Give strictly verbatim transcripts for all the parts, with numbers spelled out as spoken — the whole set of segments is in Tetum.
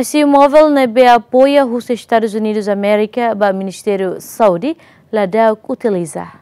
I C U móvel ne'ebé apoia husi Estadus Unidus Amérika ba Ministériu Saúde ladauk utiliza.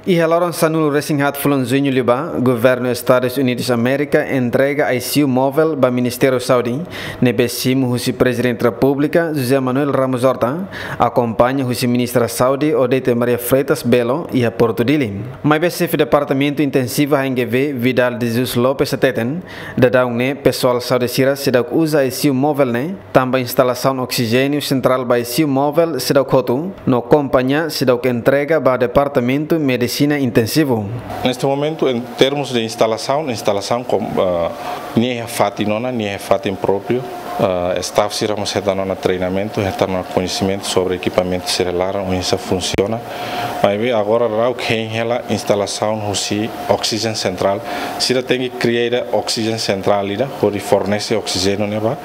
Iha loron sanulu-resin-haat fulan Juñu liubá, Governu Estadus Unidus Amérika entrega I C U móvel ba Ministériu Saúde, ne'ebé simu husi Prezidente Repúblika, José Manuel Ramos Horta, akompaña husi Ministra Saúde, Odete Maria Freitas Belo, iha Portu Dili. Maibé Xefe Departamentu Intensivu H N G V, Vidal de Jesus Lopes hateten, daudaun ne'e pesoál saúde sira seidauk uza I C U móvel ne'e, tanba instalasaun oksijéniu sentrál ba I C U móvel seidauk hotu, no kompañia seidauk entrega ba Departamentu Medisina Intensivu. Neste momento, em termos de instalação, instalação com, ah, nia iha fatin ona, nia iha fatin própriu, ah, staff sira mós hetan ona treinamentu, hetan ona koñesimentu sobre ekipamentu sira laran, oinsá funsiona. Maibé agora daudaun hein hela instalasaun husi oxygen central. Sira tenke kria oxygen central ida, hodi fornese oksijéniu ne'e ba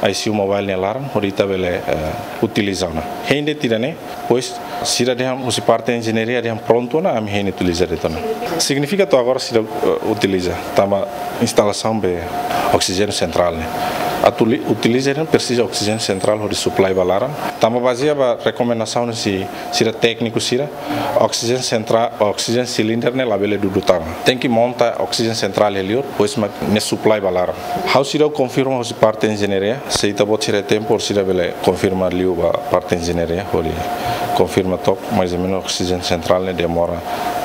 I C U móvel nia laran, hodi ita bele, eh, utiliza ona. Hein de'it ida-ne'e, pois, sira dehan husi parte enjeñaria dehan prontu ona, ami hein utiliza de'it ona. Signifika to'o agora sira, eh, utiliza, tanba instalasaun ba oksijéniu sentrál ne'e. Atu li-, utiliza ne'e presiza oksijéniu sentrál hodi supply ba laran. Tanba bazeia ba rekomendasaun husi sira tékniku sira, oxygen central, oxygen cylinder ne'e labele dudu tan. Tenke monta oxygen central iha liur, pois mak ne'e supply ba laran. Ha'u seidauk konfirma husi parte enjeñaria, se ita-boot sira iha tempu, sira bele konfirma liu ba parte enjeñaria, hodi konfirma took, mais ou menos oxygen central ne'e demora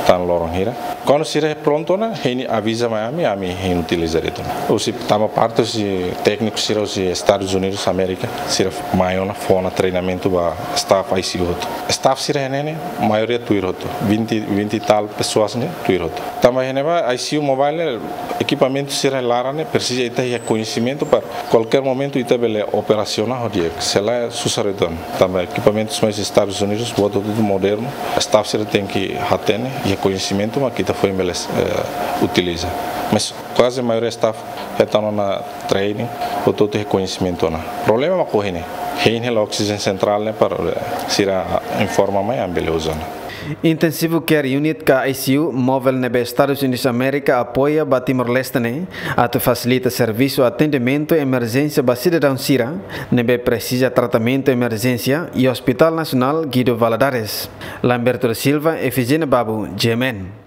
tan loron hira. Kuandu sira prontu ona, hein aviza mai ami, ami hein utiliza de'it ona. Husi tanba parte husi tékniku sira husi Estadus Unidus Amérika, sira mai ona fó ona treinamentu ba staff I C U hotu. Staff sira iha ne'e ne'e, maioria tuir hotu. Vinte, vinte e tal pessoas ne'e, tuir hotu. Tanba iha ne'ebá, I C U móvel ne'e, ekipamentu sira laran ne'e, presiza ita iha koñesimentu para kualkér momentu ita bele operasiona ho di'ak. Se lae susar de'it ona. Tanba ekipamentu sira mai Estadus Unidus, buat hotu modernu. Staff sira tenke hatene, iha koñesimentu mak ita foin bele, eh, utiliza. Mas kuaze maioria staff hetan ona training, hotu-hotu iha koñesimentu ona. Problema mak ohin ne'e. Hein hela oxygen central ne'e para, eh, sira informa mai ami bele uza ona. Intensive Care Unit ka I C U móvel ne'ebé Estadus Unidus Amérika apoia ba Timor-Leste ne'e, atu fasilita servisu atendimentu emerjénsia ba sidadaun sira ne'ebé presiza tratamentu emerjénsia iha Hospital Nasionál Guido Valadares. Lamberto da Silva, Efigénia Babu, G M N.